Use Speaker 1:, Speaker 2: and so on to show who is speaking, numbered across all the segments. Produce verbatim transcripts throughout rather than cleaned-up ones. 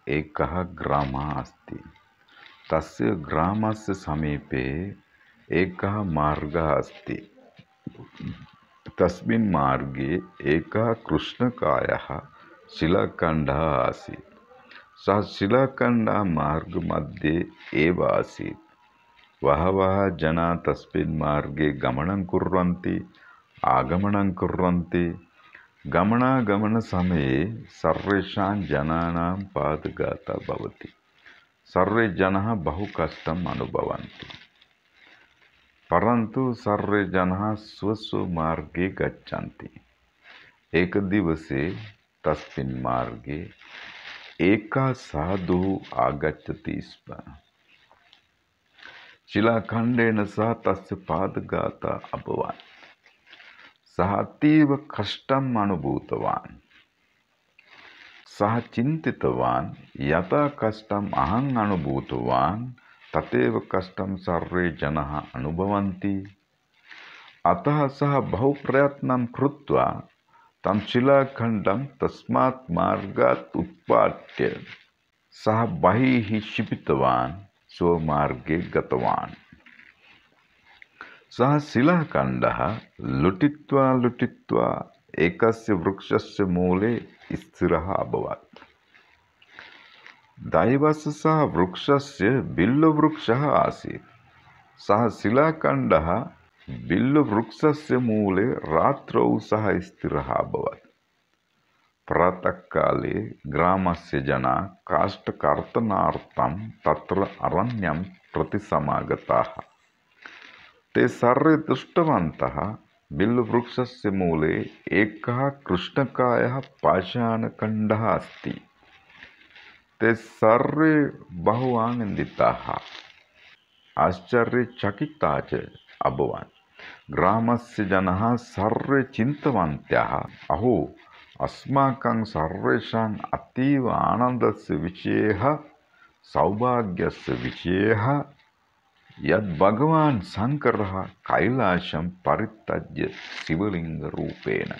Speaker 1: एकः ग्रामः अस्ति। तस्य ग्रामस्य समीपे एकः मार्गः अस्ति। तस्मिन् मार्गे एकः कृष्णकायः शिलाखण्डः आसीत्। सः शिलाखण्डः मार्गमध्ये एव आसीत्। बहवः जनाः तस्मिन् मार्गे गमनं कुर्वन्ति, आगमनं कुर्वन्ति। गमनागमनसमये सर्वेषां जनानां पादघातः भवति। सर्वे जनाः बहु कष्टम् अनुभवन्ति। परन्तु सर्वे जनाः स्वस्वमार्गे गच्छन्ति। एकदिवसे तस्मिन् मार्गे एकः साधुः आगच्छति स्म। शिलाखण्डेन सह तस्य पादघातः अभवत्। सः अतीव कष्टम् अनुभूतवान्। सः चिन्तितवान्, यथा कष्टम् अहम् अनुभूतवान् तथैव कष्टं सर्वे जनाः अनुभवन्ति। अतः सः बहु प्रयत्नं कृत्वा तं शिलाखण्डं तस्मात् मार्गात् उत्पाट्य सः बहिः क्षिपितवान्, स्वमार्गे गतवान्। सः शिलाखण्डः लुटित्वा लुटित्वा एकस्य वृक्षस्य मूले स्थिरः अभवत्। दैवस्य सः वृक्षस्य बिल्ववृक्षः आसीत्। सः शिलाखण्डः बिल्ववृक्षस्य मूले रात्रौ सः स्थिरः अभवत्। प्रातःकाले ग्रामस्य जनाः काष्ठकर्तनार्थं तत्र अरण्यं प्रति समागताः। ते सर्वे दृष्टवन्तः, बिल्ववृक्षस्य मूले एकः कृष्णकायः पाषाणखण्डः अस्ति। ते सर्वे बहु आनन्दिताः, आश्चर्यचकिताः च अभवन्। ग्रामस्य जनाः सर्वे चिन्तितवन्तः, अहो, अस्माकं सर्वेषाम् अतीव आनन्दस्य विषयः, सौभाग्यस्य विषयः, यद् भगवान् शङ्करः कैलासं परित्यज्य शिवलिङ्गरूपेण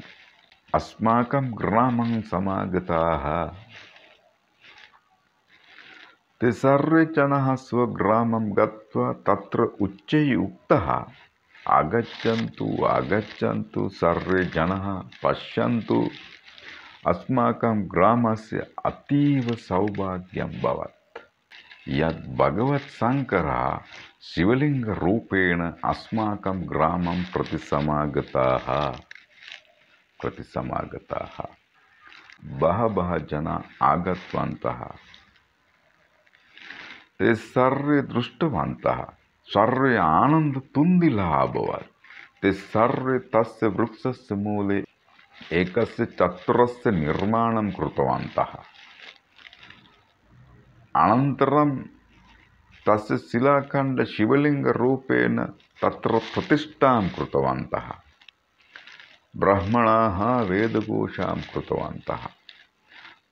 Speaker 1: अस्माकं ग्रामं समागताः। ते सर्वे जनाः स्वग्रामं गत्वा तत्र उच्चैः उक्तः, आगच्छन्तु आगच्छन्तु सर्वे जनाः, पश्यन्तु, अस्माकं ग्रामस्य अतीव सौभाग्यं भवत्। यद् भगवत् शङ्करः शिवलिङ्गरूपेण अस्माकं ग्रामं प्रति समागताः प्रति समागताः। बहवः जनाः आगतवन्तः। ते सर्वे दृष्टवन्तः, सर्वे आनन्दतुन्दिलः अभवत्। ते सर्वे तस्य वृक्षस्य मूले एकस्य चत्वरस्य निर्माणं कृतवन्तः। अनन्तरं तस्य शिलाखण्ड शिवलिङ्गरूपेण तत्र प्रतिष्ठां कृतवन्तः। ब्राह्मणाः वेदघोषां कृतवन्तः।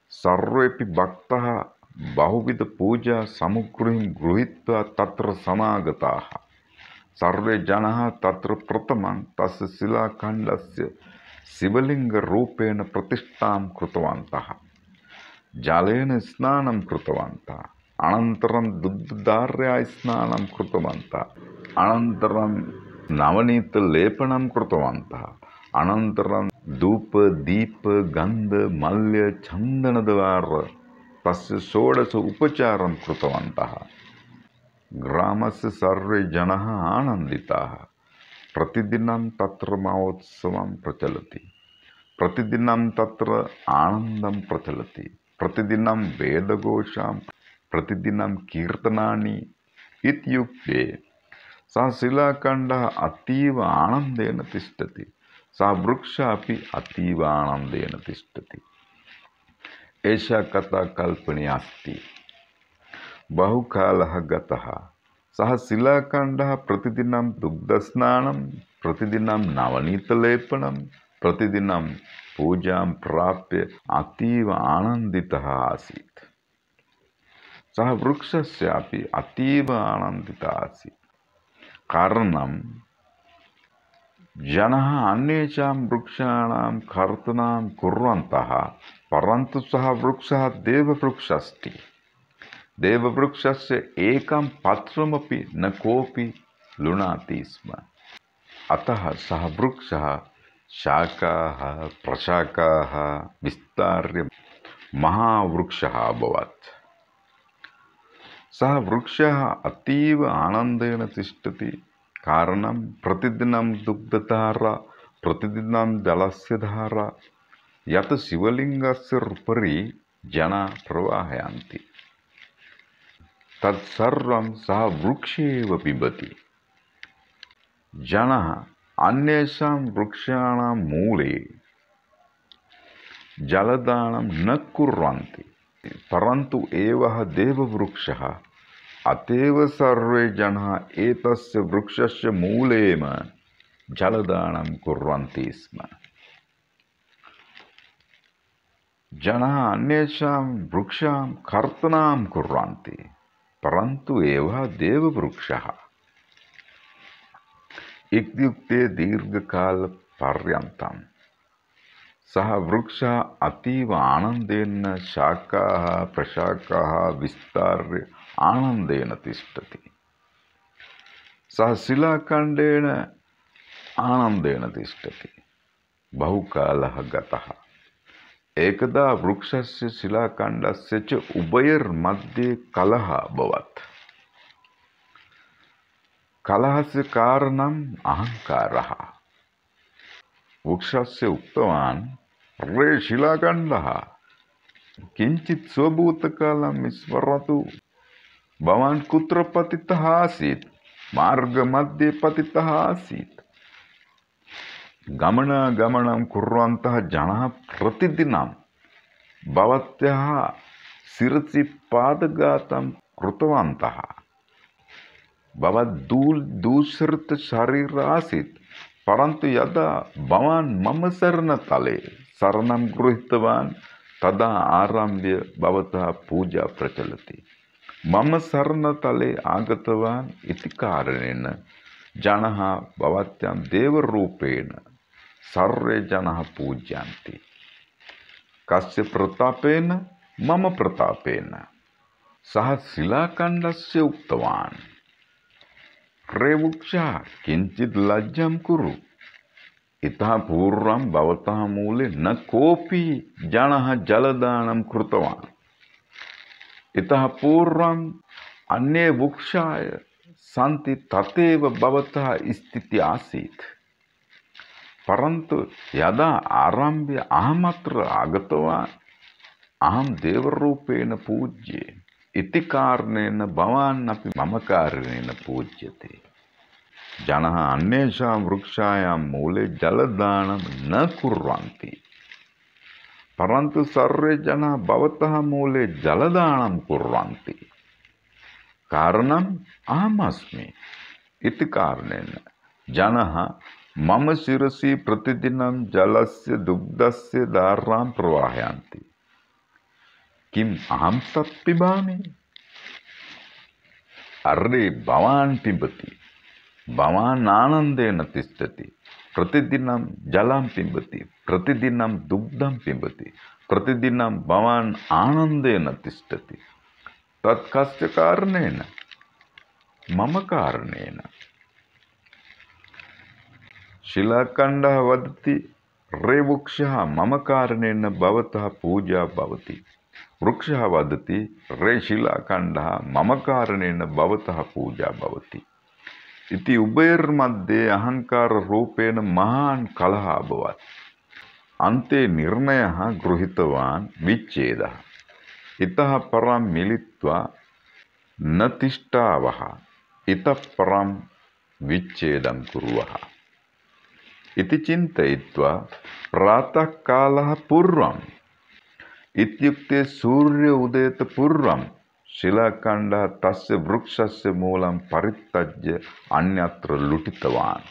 Speaker 1: सर्वेपि भक्ताः बहुविधपूजा सामग्रीं गृहीत्वा तत्र समागताः। सर्वे जनाः तत्र प्रथमं तस्य शिलाखण्डस्य शिवलिङ्गरूपेण प्रतिष्ठां कृतवन्तः। जलेन स्नानं कृतवन्तः। अनन्तरं दुग्धधारया स्नानं कृतवन्तः। अनन्तरं नवनीतलेपनं कृतवन्तः। अनन्तरं धूप दीप गन्ध मल्य चन्दनद्वारा तस्य षोडश उपचारं कृतवन्तः। ग्रामस्य सर्वे जनाः आनन्दिताः। प्रतिदिनं तत्र महोत्सवं प्रचलति। प्रतिदिनं तत्र आनन्दं प्रचलति। प्रतिदिनं वेदघोषां, प्रतिदिनं कीर्तनानि इत्युक्ते सः शिलाखण्डः अतीव आनन्देन तिष्ठति। सः वृक्षः अपि अतीव आनन्देन तिष्ठति। एषा कथा कल्पनीया अस्ति। बहुकालः गतः। सः शिलाखण्डः प्रतिदिनं दुग्धस्नानं, प्रतिदिनं नवनीतलेपनं, प्रतिदिनं पूजां प्राप्य अतीव आनन्दितः आसीत्। सः वृक्षस्यापि अतीव आनन्दितः आसीत्। कारणं जनः अन्येषां वृक्षाणां कर्तनं कुर्वन्तः परन्तु सः वृक्षः देववृक्षस्ति। देववृक्षस्य एकं पत्रमपि न कोऽपि लुणाति स्म। अतः सः वृक्षः शाखाः प्रशाखाः विस्तार्य महावृक्षः अभवत्। सः वृक्षः अतीव आनन्देन तिष्ठति, कारणं प्रतिदिनं दुग्धधारा, प्रतिदिनं जलस्य धारा यत् शिवलिङ्गस्य उपरि जनाः प्रवाहयन्ति तत्सर्वं सः वृक्षे एव पिबति। जनाः अन्येषां वृक्षाणां मूले जलदानं न कुर्वन्ति, परन्तु एवः देववृक्षः, अतएव सर्वे जनाः एतस्य वृक्षस्य मूलेम जलदानं कुर्वन्ति स्म। जनाः अन्येषां वृक्षां कर्तनं कुर्वन्ति, परन्तु एवः देववृक्षः इत्युक्ते दीर्घकालपर्यन्तं सः वृक्षः अतीव आनन्देन शाखाः प्रशाखाः विस्तार्य आनन्देन तिष्ठति। सः शिलाखण्डेन आनन्देन तिष्ठति। बहुकालः गतः। एकदा वृक्षस्य शिलाखण्डस्य च उभयोर्मध्ये कलहः अभवत्। कलहस्य कारणम् अहङ्कारः। वृक्षस्य उक्तवान्, रे शिलाखण्डः, किञ्चित् स्वभूतकालं स्मरतु। भवान् कुत्र पतितः आसीत्? मार्गमध्ये पतितः आसीत्। गमनागमनं कुर्वन्तः जनाः प्रतिदिनं भवत्याः शिरसि पादघातं कृतवन्तः। भवत् दूषितशरीरः आसीत्, परन्तु यदा भवान् मम शरणतले शरणं गृहीतवान् तदा आरभ्य भवतः पूजा प्रचलति। मम शरणतले आगतवान् इति कारणेन जनाः भवत्यां देवरूपेण सर्वे जनाः पूजयन्ति। कस्य प्रतापेन? मम प्रतापेन। सः शिलाखण्डस्य उक्तवान्, रे वृक्षः, किञ्चित् लज्जां कुरु। इतः पूर्वं भवतः मूले न कोऽपि जनः जलदानं कृतवान्। इतः पूर्वम् अन्ये वृक्षाः सन्ति, तथैव भवतः स्थितिः आसीत्। परन्तु यदा आरभ्य अहमत्र आगतवान्, अहं देवरूपेण पूज्ये इति कारणेन भवान् अपि मम कारणेन पूज्यते। जनाः अन्येषां वृक्षायां मूले जलदानं न कुर्वन्ति, परन्तु सर्वे जनाः भवतः मूले जलदानं कुर्वन्ति। कारणम् अहमस्मि इति कारणेन जनाः मम शिरसि प्रतिदिनं जलस्य दुग्धस्य धारां प्रवाहयन्ति। किम् अहं तत् पिबामि? अर्रे, भवान् पिबति। भवान् आनन्देन तिष्ठति। प्रतिदिनं जलं पिबति, प्रतिदिनं दुग्धं पिबति, प्रतिदिनं भवान् आनन्देन तिष्ठति। तत् कस्य कारणेन? मम कारणेन। शिलाखण्डः वदति, रे वृक्षः, मम कारणेन भवतः पूजा भवति। वृक्षः वदति, रे शिलाखण्डः, मम कारणेन भवतः पूजा भवति। इति उभयोर्मध्ये अहङ्काररूपेण महान् कलहः अभवत्। अन्ते निर्णयः गृहीतवान् विच्छेदः। इतः परं मिलित्वा न तिष्ठावः, इतः परं विच्छेदं कुर्वः इति चिन्तयित्वा प्रातःकालः पूर्वम्, इत्युक्ते सूर्य उदयत पूर्वं शिलाखण्डः तस्य वृक्षस्य मूलं परित्यज्य अन्यत्र लुटितवान्।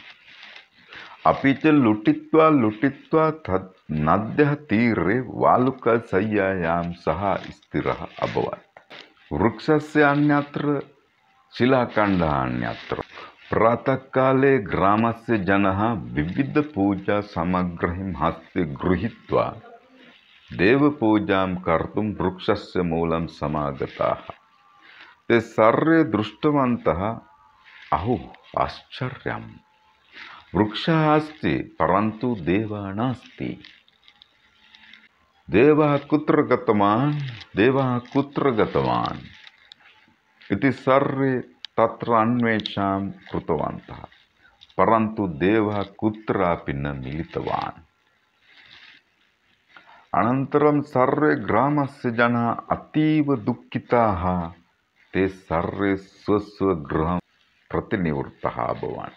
Speaker 1: अपि च लुटित्वा लुटित्वा तत् नद्यः तीरे वालुकशय्यायां सः स्थिरः अभवत्। वृक्षस्य अन्यत्र, शिलाखण्डः अन्यत्र। प्रातःकाले ग्रामस्य जनः विविधपूजासामग्रीं हस्ते गृहीत्वा देवपूजां कर्तुं वृक्षस्य मूलं समागताः। ते सर्वे दृष्टवन्तः, अहो आश्चर्यम्, वृक्षः अस्ति परन्तु देवः नास्ति। देवः कुत्र गतवान् देवः कुत्र गतवान् इति सर्वे तत्र अन्वेषां कृतवन्तः, परन्तु देवः कुत्रापि न मिलितवान्। अनन्तरं सर्वे ग्रामस्य जनाः अतीव दुःखिताः। ते सर्वे स्वस्वगृहं प्रतिनिवृत्ताः अभवन्।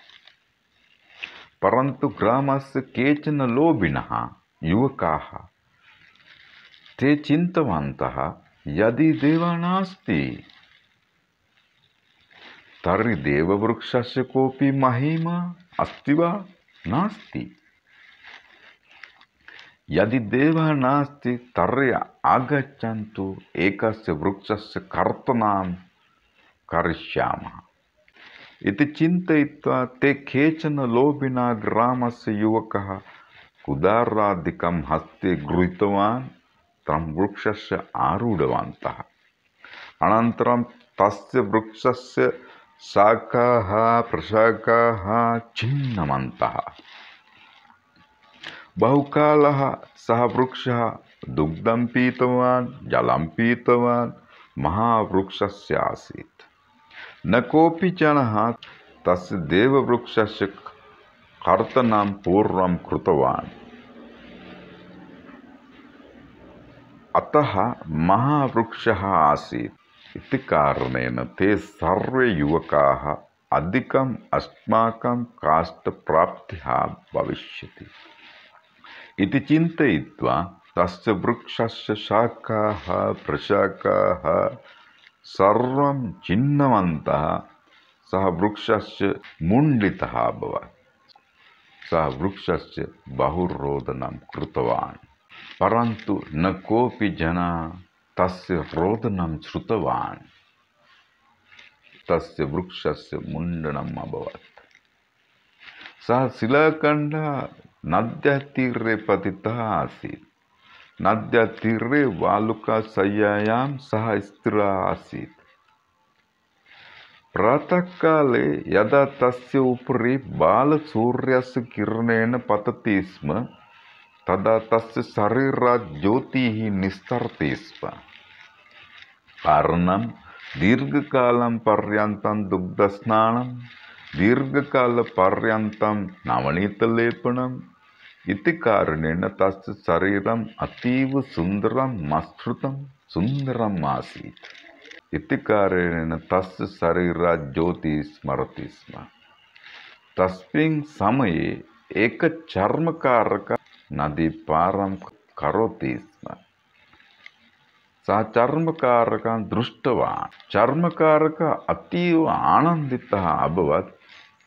Speaker 1: परन्तु ग्रामस्य केचन लोभिनः युवकाः ते चिन्तितवन्तः, यदि देवः नास्ति तर्हि देववृक्षस्य कोऽपि महिमा अस्ति वा? नास्ति। यदि देवः नास्ति तर्हि आगच्छन्तु एकस्य वृक्षस्य कर्तनं करिष्यामः इति चिन्तयित्वा ते केचन लोभिनः ग्रामस्य युवकः कुदारादिकं हस्ते गृहीतवान् तं वृक्षस्य आरूढवन्तः। अनन्तरं तस्य वृक्षस्य शाखाः प्रशाखाः छिन्नवन्तः। बहुकालः सः वृक्षः दुग्धं पीतवान्, जलं पीतवान्, महावृक्षस्य आसीत्। न कोऽपि जनः तस्य देववृक्षस्य कर्तनं पूर्वं कृतवान्। अतः महावृक्षः आसीत् इति कारणेन ते सर्वे युवकाः अधिकम् अस्माकं काष्ठप्राप्तिः भविष्यति इति चिन्तयित्वा तस्य वृक्षस्य शाखाः प्रशाखाः सर्वं छिन्नवन्तः। सः वृक्षस्य मुण्डितः अभवत्। सः वृक्षस्य बहुरोदनं कृतवान्, परन्तु न कोऽपि जनः तस्य रोदनं श्रुतवान्। तस्य वृक्षस्य मुण्डनम् अभवत्। सः शिलाखण्डः नद्याः तीरे पतितः आसीत्। नद्याः तीरे वालुकाशय्यायां सः स्थिरः आसीत्। प्रातःकाले यदा तस्य उपरि बालसूर्यस्य किरणेन पतति स्म तदा तस्य शरीरात् ज्योतिः निस्तरति स्म। कारणं दीर्घकालं पर्यन्तं दुग्धस्नानं, दीर्घकालपर्यन्तं नवनीतलेपनम् इति कारणेन तस्य शरीरम् अतीव सुन्दरं मसृतं सुन्दरम् आसीत्। इति कारणेन तस्य शरीरात् ज्योतिः स्मरति स्म। तस्मिन् समये एक चर्मकारक नदीपारं करोति स्म। सः चर्मकारकं दृष्टवान्। चर्मकारकः अतीव आनन्दितः अभवत्।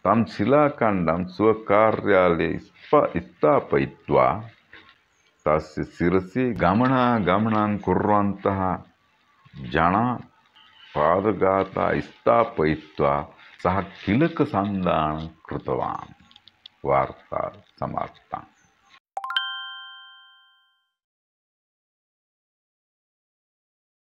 Speaker 1: तं शिलाखण्डं स्वकार्यालये स्थापयित्वा तस्य शिरसि गमनागमनं कुर्वन्तः जनाः पादघाताः स्थापयित्वा सः तिलकसन्धानं कृतवान्। वार्ता समाप्ता।